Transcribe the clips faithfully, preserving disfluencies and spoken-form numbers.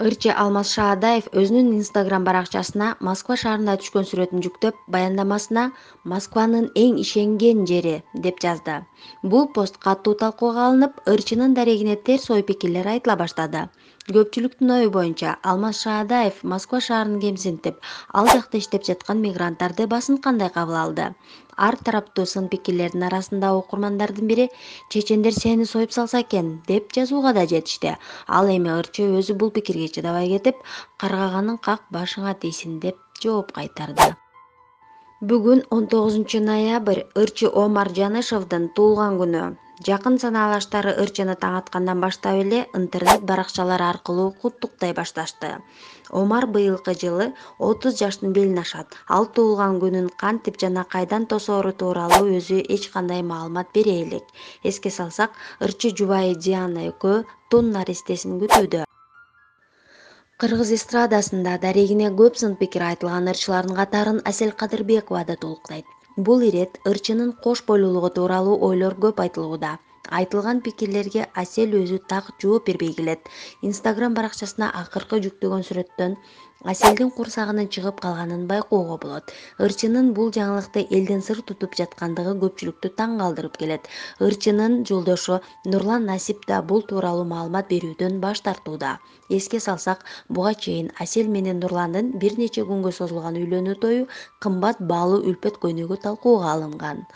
Ырчы Алмаз Шаадаев өзүнүн Instagram баракчасына Москва шаарында түшкөн сүрөтүн жүктөп, баяндамасына «Москванын эң ишенген жери» деп жазды. Бул пост катуу талкууга алынып, ырчынын дарегине терс ой пикирлер айтыла баштады. Көпчүлүктүн ою боюнча, Алмаз Шаадаев Москва шаарын кемсинтип, ал жакта иштеп жаткан мигранттарды басым кандай кабыл алды? Ар тараптуу сын пикирлердин арасында окурмандардын бири «Чечендер сени союп салса экен» деп жазууга да жетишти. Ал эми ырчы өзү бул пикирге чыдабай кетип, каргаганың как башыңа тийсин деп жооп кайтарды. Бүгүн он тогузунчу ноябрь ырчы Омар Жанышевдин туулган күнү. Жакын санаалаштары ырчыны таң аткандан баштап эле интернет баракчалары аркылуу куттуктай башташты. Омар быйылкы жылы отуз жаштын белин ашат. Ал туулган күнүн кантип жана кайдан тосоору тууралуу өзү эч кандай маалымат бере элек. Эске салсак, ырчы жубайы Диана экөө тун наристесин күтүүдө. Кыргыз эстрадасында дарегине көп сын пикир айтылган ырчылардын катарын Асель Кадырбекова да толуктайт. Бул ирет ырчынын кош бойлуулугу тууралуу ойлор көп айтылууда. Айтылган пикирлерге Асель өзү так жооп бербей келет. Instagram баракчасына акыркы жүктөгөн сүрөттөн Аселдин курсагынын чыгып калганын байкоого болот. Ырчынын бул жаңылыкты элден сыр тутуп жаткандыгы көпчүлүктү таң калтырып келет. Ырчынын жолдошу Нурлан Насип да бул тууралуу маалымат берүүдөн баш тартууда. Эске салсак, буга чейин Асель менен Нурландын бир нече күнгө созулган үйлөнүү тою кымбат баалуу үлпөт көйнөгү талкууга алынган.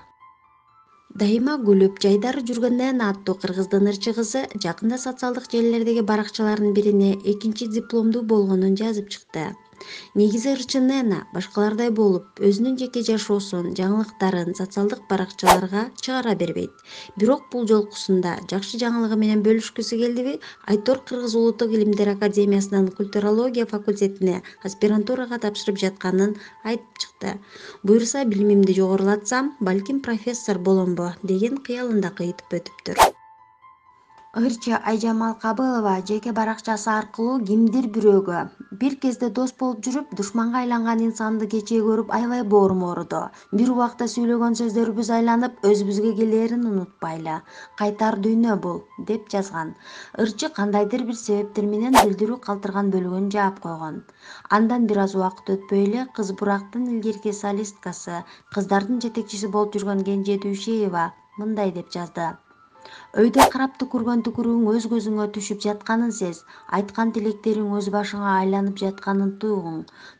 Дайыма күлүп, жайдары жүргөн Нена аттуу кыргыздын ырчы кызы жакында социалдык желилердеги баракчаларынын бирине экинчи дипломдуу болгонун жазып чыкты. Негизи ырчы Нена башкалардай болуп, өзүнүн жеке жашоосун, жаңылыктарын социалдык баракчаларга чыгара бербейт. Бирок бул жолкусунда жакшы жаңылыгы менен бөлүшкүсү келдиби? Айтор Кыргыз Улуттук илимдер академиясынын культурология факультетине аспирантурага тапшырып жатканын айтып чыкты. Буюрса билимимди жогорулатсам, балким профессор боломбу деген кыялын да кыйтып өтүптүр. Ырчы Айжамал Кабылова жеке баракчасы аркылуу кимдир бирөөгө бир кезде дос болуп жүрүп, душманга айланган инсанды кечээ көрүп аябай боорум ооруду. Бир убакта сүйлөгөн сөздөрүбүз айланып, өзүбүзгө келээрин унутпайлы. Кайтар дүйнө бул, деп жазган. Ырчы кандайдыр бир себептер менен билдирүү калтырган бөлүгүн жаап койгон. Андан бир аз убакыт өтпөй эле Кыз Бурактын илгерки солисткасы, кыздардын жетекчиси болуп жүргөн Кенже Дүйшеева мындай деп жазды. Өйдө карап түкүргөн түкүрүгүң өз көзүңө түшүп жатканын сез, айткан тилектериң өз башыңа айланып жатканын туйгуң.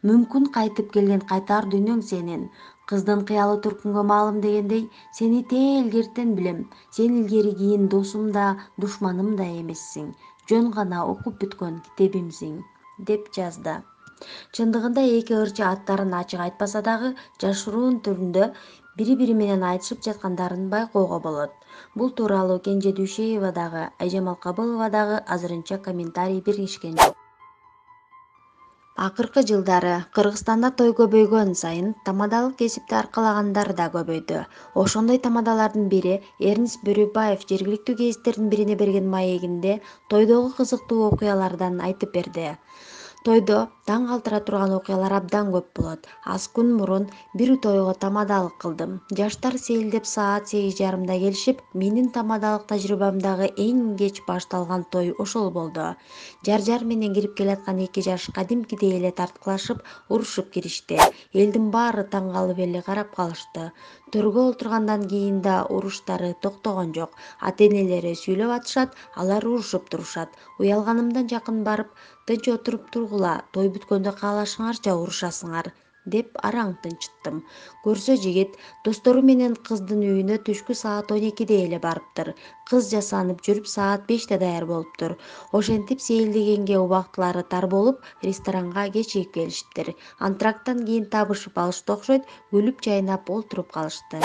Мүмкүн кайтып келген кайтар дүйнөң сенин. Кыздын кыялы түркүнгө маалым дегендей, сени тээ илгертен билем. Сен илгери кийин досум да, душманым да эмессиң. Жөн гана окуп бүткөн китебимсиң, деп жазды. Чындыгында эки ырчы аттарын ачык айтпаса дагы, жашыруун түрүндө бири-бири менен айтышып жаткандарын байкоого болот. Бул тууралуу Кенже Дүйшеева дагы, Айжамал Кабылова дагы азырынча комментарий беришкен жок. Акыркы жылдары Кыргызстанда той көбөйгөн сайын тамадалык кесипти аркалагандар да көбөйдү. Ошондой тамадалардын бири Эрнст Бөрүбаев жергиликтүү гезиттердин бирине берген маегинде тойдогу кызыктуу окуялардан айтып берди. Тойдо таң калтыра турган окуялар абдан көп болот. Аз күн мурун бир тойго тамадалык кылдым. Жаштар сейилдеп саат сегиз жарымда келишип, менин тамадалык тажрыйбамдагы эң кеч башталган той ошол болду. Жар-жар менен кирип келаткан эки жаш кадимкидей эле тарткылашып, урушуп киришти. Элдин баары таң калып эле карап калышты. Төргө отургандан кийин да уруштары токтогон жок. Ата-энелери сүйлөп атышат, алар урушуп турушат. Уялганымдан жакын барып, тынч отуруп тургула, той бүткөндө каалашыңарча урушасыңар, деп араң тынчыттым. Көрсө жигит достору менен кыздын үйүнө түшкү саат он экиде эле барыптыр. Кыз жасанып жүрүп саат беште даяр болуптур. Ошентип сейилдегенге убактылары тар болуп, ресторанга кечигип келишиптир. Антракттан кийин табышып алышты окшойт, күлүп жайнап олтуруп калышты.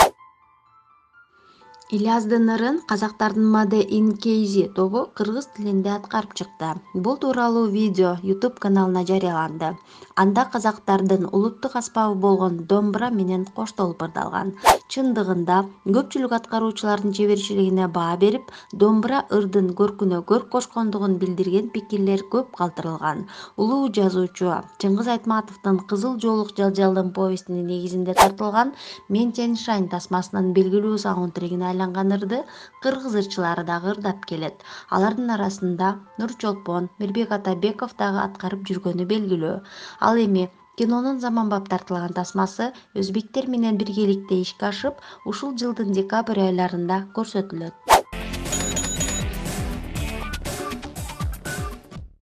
Ильяздын ырын казактардын Made in кей зет тобу кыргыз тилинде аткарып чыкты. Бул тууралуу видео YouTube каналына жарыяланды. Анда казактардын улуттук аспабы болгон домбура менен коштолуп ырдалган. Чындыгында көпчүлүк аткаруучулардын чеберчилигине баа берип, домбура ырдын көркүнө көрк кошкондугун билдирген пикирлер көп калтырылган. Улуу жазуучу Чыңгыз Айтматовдун Кызыл жоолук жалжалдын повестинин негизинде тартылган «Мен Тянь Шань» тасмасынын белгилүү саундтрегин айланган ырды кыргыз ырчылары дагы ырдап келет. Алардын арасында Нурчолпон, Мирбек Атабеков дагы аткарып жүргөнү белгилүү. Ал эми кинонун заманбап тартылган тасмасы өзбектер менен биргеликте ишке ашып, ушул жылдын декабрь айларында көрсөтүлөт.